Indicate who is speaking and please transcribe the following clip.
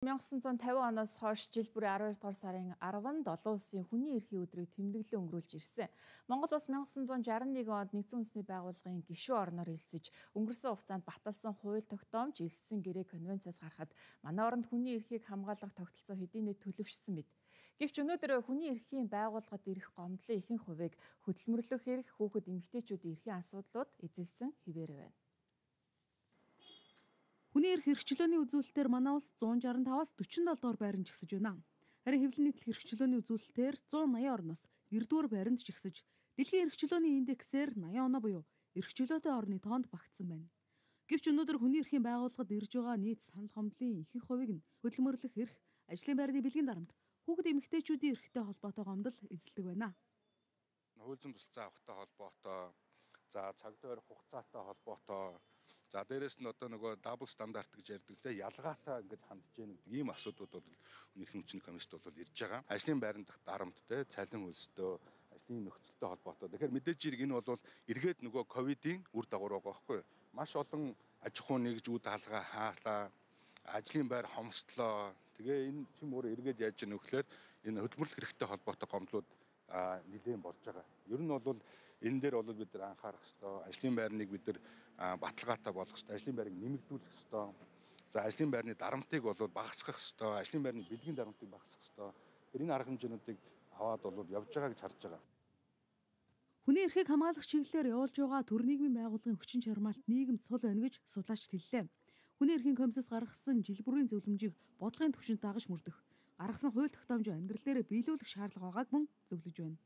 Speaker 1: 1950 оноос хойш жил бүрийн 12 дугаар сарын 10-нд олон улсын хүний эрхийн өдрийг тэмдэглэн өнгөрүүлж ирсэн. Монгол улс 1961 онд нэгдсэн үндэсний байгууллагын гишүүн орноор элсэж өнгөрсөн хугацаанд баталсан хууль тогтоомж элссэн гэрээ конвенцаас гарахад манай оронд хүний эрхийг хамгаалах тогтолцоо хэдийн нийт төлөвшсөн мэт. Гэвч өнөөдөр хүний эрхийн байгууллагад ирэх гомдлын ихэнх хувийг хөдөлмөрлөх эрх, хүүхэд эмэгтэйчүүдийн эрхийн асуудлууд эзэлсэн хэвээр байна.
Speaker 2: Хүний эрх хэрэгчлөөний үзүүлэлтээр манай улс 165-аас 47 дугаар байранд жигсэж байна. Харин хэвлэл нийтлэл хэрэгчлөөний үзүүлэлтээр 180 орноос 9-р байранд жигсэж, дэлхийн эрхчлөөний индексээр 80 оноо буюу эрхчлөөтэй орны тоонд багтсан байна. Гэвч өнөөдөр хүний эрхийн байгууллагад ирж байгаа нийт санал гомдлын ихэнх хувийг нь хөдөлмөрлөх эрх, ажлын байрны бэлгийн дарамт, хүүхэд эмэгтэйчүүдийн эрхтэй холбоотой гомдол эзэлдэг байна.
Speaker 3: Хууль зүйн тусалцаа авахтай холбоотой, цаг тойрох хугацаатай холбоотой, дээрэс нь одоо нөгөө дабл стандарт гэж ярьдаг те ялгаатай ингэж хандж яах гэдэг ийм асуудлууд бол хүний эрхийн үндэсний комиссд бол ирж байгаа. Ажлын байранд дарамт те цалин хөлстэй, ажлын нөхцөлтэй холбоотой. Тэгэхээр мэдээж хэрэг энэ бол эргээд нөгөө ковидын үр дагавар байгаа байхгүй юу? Маш олон аж ахуй нэгжүүд хаалгаа хаалаа, ажлын байр хомсдлоо. Тэгээ энэ чим өөр эргээд яаж яах вэ гэхээр энэ хөдөлмөрлөх хэрэгтэй холбоотой гомдлууд нэлээд болж байгаа. Ер нь бол энэ дээр бол бид нар анхаарах ёстой. Ажлын байрныг бид нар баталгаатай болгох ёстой. Ажлын байрыг нэмэгдүүлэх ёстой. Ажлын байрны дарамтыг бол багасгах ёстой. Ажлын байрны бэлгийн дарамтыг багасгах ёстой. Энэ арга хэмжээнүүдийг аваад бол явж байгаа гэж харж байгаа.
Speaker 2: Хүний эрхийг хамгаалах чиглэлээр явуулж байгаа төр нийгмийн байгууллагын хүчин чармаалт нийгэмд сул байна гэж судлаачид хэллээ. Хүний эрхийн комиссаас гаргасан жил бүрийн зөвлөмжийг бодлогын түвшинд дагаж мөрдөх, гаргасан хууль тогтоомжийг амьдрал дээр биелүүлэх шаардлага байгааг мөн зөвлөж байна.